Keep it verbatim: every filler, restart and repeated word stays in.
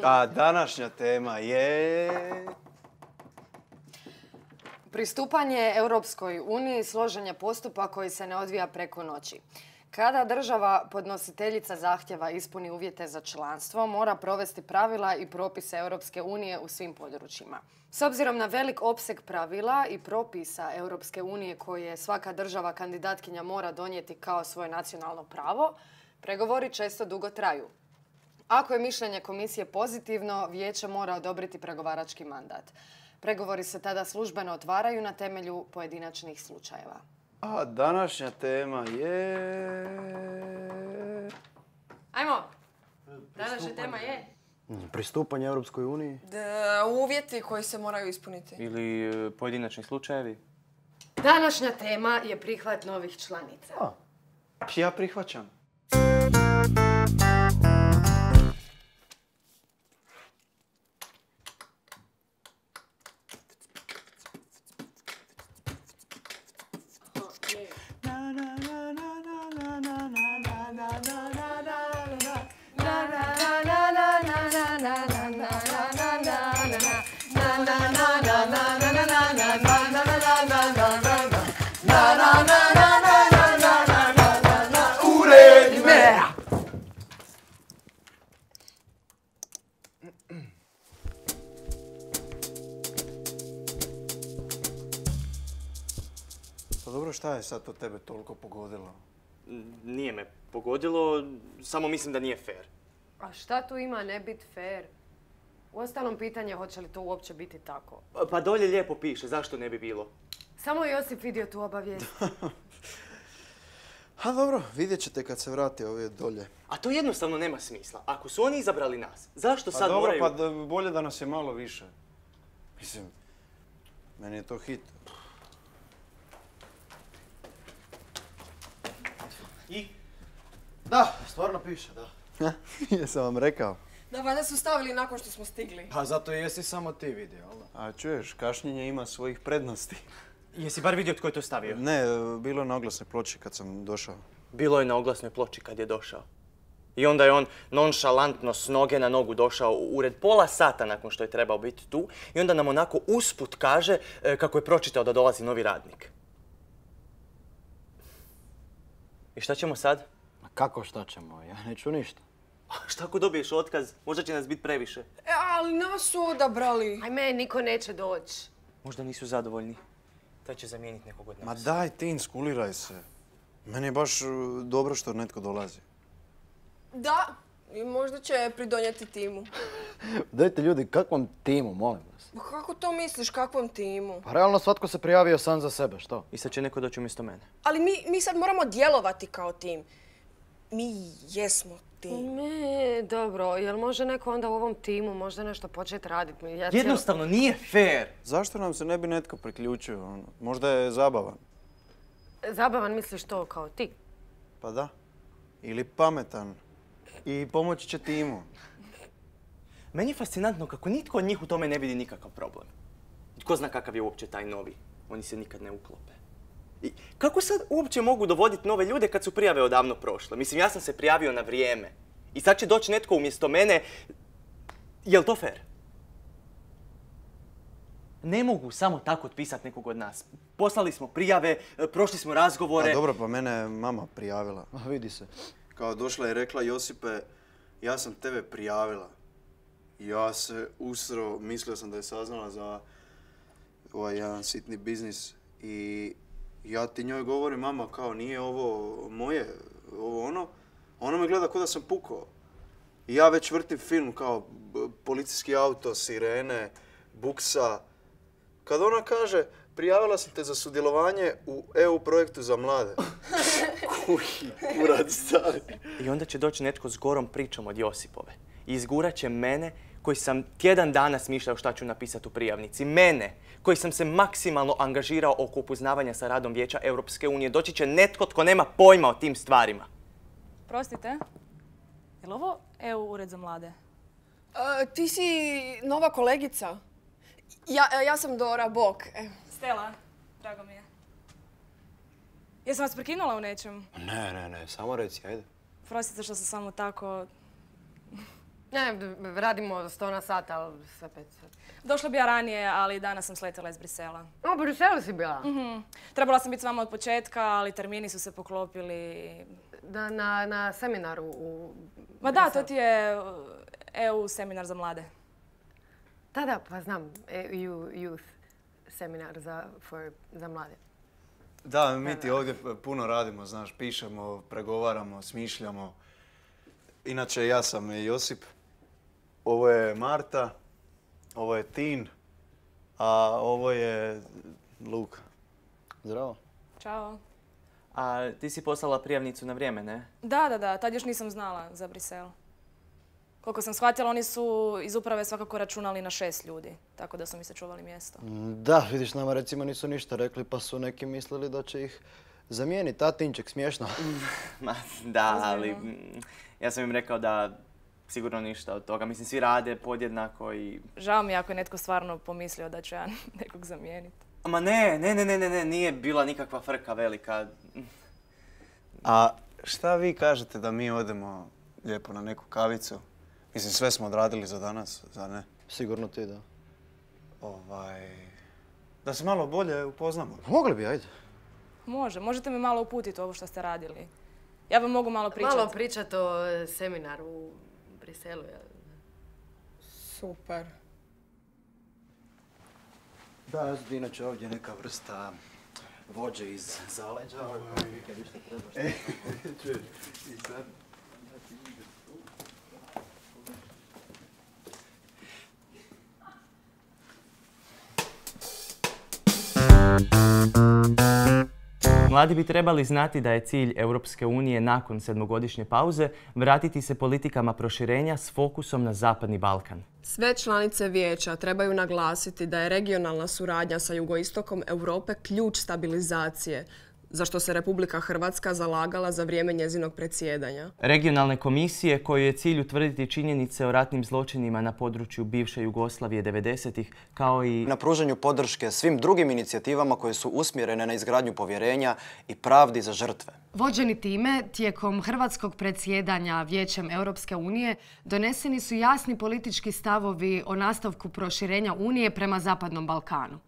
A današnja tema je... Pristupanje Europskoj uniji složen je postupak koji se ne odvija preko noći. Kada država podnositeljica zahtjeva ispuni uvjete za članstvo, mora provesti pravila i propise Europske unije u svim područjima. S obzirom na velik opseg pravila i propisa Europske unije koje svaka država kandidatkinja mora donijeti kao svoje nacionalno pravo, pregovori često dugo traju. Ako je mišljenje komisije pozitivno, vijeće mora odobriti pregovarački mandat. Pregovori se tada službeno otvaraju na temelju pojedinačnih slučajeva. A današnja tema je... Ajmo! Današnja tema je... Pristupanje Europskoj uniji. Da, uvjeti koji se moraju ispuniti. Ili e, pojedinačni slučajevi. Današnja tema je prihvat novih članica. A, ja prihvaćam. Pa dobro, šta je sad to tebe toliko pogodilo? Nije me pogodilo, samo mislim da nije fair. A šta tu ima ne biti fair? Uostalom pitanje hoće li to uopće biti tako. Pa, pa dolje lijepo piše, zašto ne bi bilo? Samo je Josip vidio tu obavijest. A dobro, vidjet ćete kad se vrati ovdje dolje. A to jednostavno nema smisla. Ako su oni izabrali nas, zašto Pa sad dobro, moraju... pa da, bolje da nas je malo više. Mislim, meni je to hit. I? Da, stvarno piše, da. Jesam vam rekao. Da, valjda su stavili nakon što smo stigli. Pa zato jesi samo ti vidio, jel da? A čuješ, kašnjenje ima svojih prednosti. Jesi bar vidio tko je to stavio? Ne, bilo je na oglasnoj ploči kad sam došao. Bilo je na oglasnoj ploči kad je došao. I onda je on nonšalantno s noge na nogu došao u ured pola sata nakon što je trebao biti tu. I onda nam onako usput kaže e, kako je pročitao da dolazi novi radnik. I šta ćemo sad? Ma kako šta ćemo? Ja neću ništa. Šta ako dobiješ otkaz? Možda će nas biti previše. E, ali nas su odabrali. Ajme, niko neće doći. Možda nisu zadovoljni. Taj će zamijeniti nekog od nas. Ma daj ti, inskuliraj se. Meni je baš uh, dobro što netko dolazi. Da, i možda će pridonijeti timu. Dajte ljudi, kakvom timu, molim vas? Pa kako to misliš, kakvom timu? Pa realno svatko se prijavio sam za sebe, što? I sad će neko doći umjesto mene. Ali mi, mi sad moramo djelovati kao tim. Mi jesmo tim. Ne, dobro, jel može neko onda u ovom timu možda nešto početi raditi? Ja cijelo- Jednostavno nije fair. Zašto nam se ne bi netko priključio? Ono? Možda je zabavan. Zabavan misliš to kao ti? Pa da. Ili pametan. I pomoći će timu. Meni je fascinantno kako nitko od njih u tome ne vidi nikakav problem. Tko zna kakav je uopće taj novi? Oni se nikad ne uklope. I kako sad uopće mogu dovoditi nove ljude kad su prijave odavno prošle? Mislim, ja sam se prijavio na vrijeme. I sad će doći netko umjesto mene. Jel to fair? Ne mogu samo tako otpisati nekog od nas. Poslali smo prijave, prošli smo razgovore. A dobro, pa mene je mama prijavila. A vidi se. Kao došla i rekla, Josipe, ja sam tebe prijavila. Ja se usro, mislio sam da je saznala za ovaj jedan sitni biznis. I ja ti njoj govorim, mama, kao nije ovo moje, ovo ono. Ona me gleda kao da sam pukao. I ja već vrtim film kao b- policijski auto, sirene, buksa. Kad ona kaže, prijavila sam te za sudjelovanje u E U projektu za mlade. Kuhi, kurac stari. I onda će doći netko s gorom pričom od Josipove. I izgurat će mene, koji sam tjedan dana smišljao šta ću napisati u prijavnici. Mene, koji sam se maksimalno angažirao oko upoznavanja sa radom Vijeća Europske unije. Doći će netko tko nema pojma o tim stvarima. Prostite, je li ovo E U ured za mlade? E, ti si nova kolegica. Ja, ja sam Dora, bok. E. Stela, drago mi je. Jesam vas prekinula u nečem? Ne, ne, ne, samo reci, ajde. Prostite što sam samo tako... Ne, radimo sto na sat, ali sve pet sat. Došla bi ja ranije, ali danas sam sletjela iz Brisela. O, u Briselu si bila? Mhm. Trebala sam biti s vama od početka, ali termini su se poklopili. Da, na, na seminaru u Ma da, to Briselu. ti je E U seminar za mlade. Da, da, pa znam. E U Youth seminar za, for, za mlade. Da, mi ti ovdje puno radimo, znaš, pišemo, pregovaramo, smišljamo. Inače, ja sam Josip, ovo je Marta, ovo je Tin, a ovo je Luka. Zdravo. Ćao. A ti si poslala prijavnicu na vrijeme, ne? Da, da, da, tad još nisam znala za Brisel. Koliko sam shvatila, oni su iz uprave svakako računali na šest ljudi, tako da su mi se čuvali mjesto. Da, vidiš, nama recimo nisu ništa rekli pa su neki mislili da će ih zamijeniti. Tatinček, smiješno. Ma, da, ali mm, ja sam im rekao da sigurno ništa od toga. Mislim, svi rade podjednako i... Žao mi je ako je netko stvarno pomislio da ću ja nekog zamijeniti. Ma ne, ne, ne, ne, ne, ne, nije bila nikakva frka velika. A šta vi kažete da mi odemo lijepo na neku kavicu? Mislim, sve smo odradili za danas, zar ne? Sigurno ti, da. Ovaj... Da se malo bolje upoznamo. Mogli bi, ajde. Može, možete me malo uputiti u ovo što ste radili. Ja vam mogu malo pričati. Malo pričat o seminaru u Briselu. Super. Da, ja sam inače ovdje neka vrsta vođe iz zaleđa. Kad išta trebaš. I sad... Mladi bi trebali znati da je cilj Europske unije nakon sedmogodišnje pauze vratiti se politikama proširenja s fokusom na Zapadni Balkan. Sve članice vijeća trebaju naglasiti da je regionalna suradnja sa jugoistokom Europe ključ stabilizacije, za što se Republika Hrvatska zalagala za vrijeme njezinog predsjedanja. Regionalne komisije kojoj je cilj utvrditi činjenice o ratnim zločinima na području bivše Jugoslavije devedesetih, kao i Na pružanju podrške svim drugim inicijativama koje su usmjerene na izgradnju povjerenja i pravdi za žrtve. Vođeni time, tijekom hrvatskog predsjedanja Vijećem Europske unije doneseni su jasni politički stavovi o nastavku proširenja Unije prema Zapadnom Balkanu.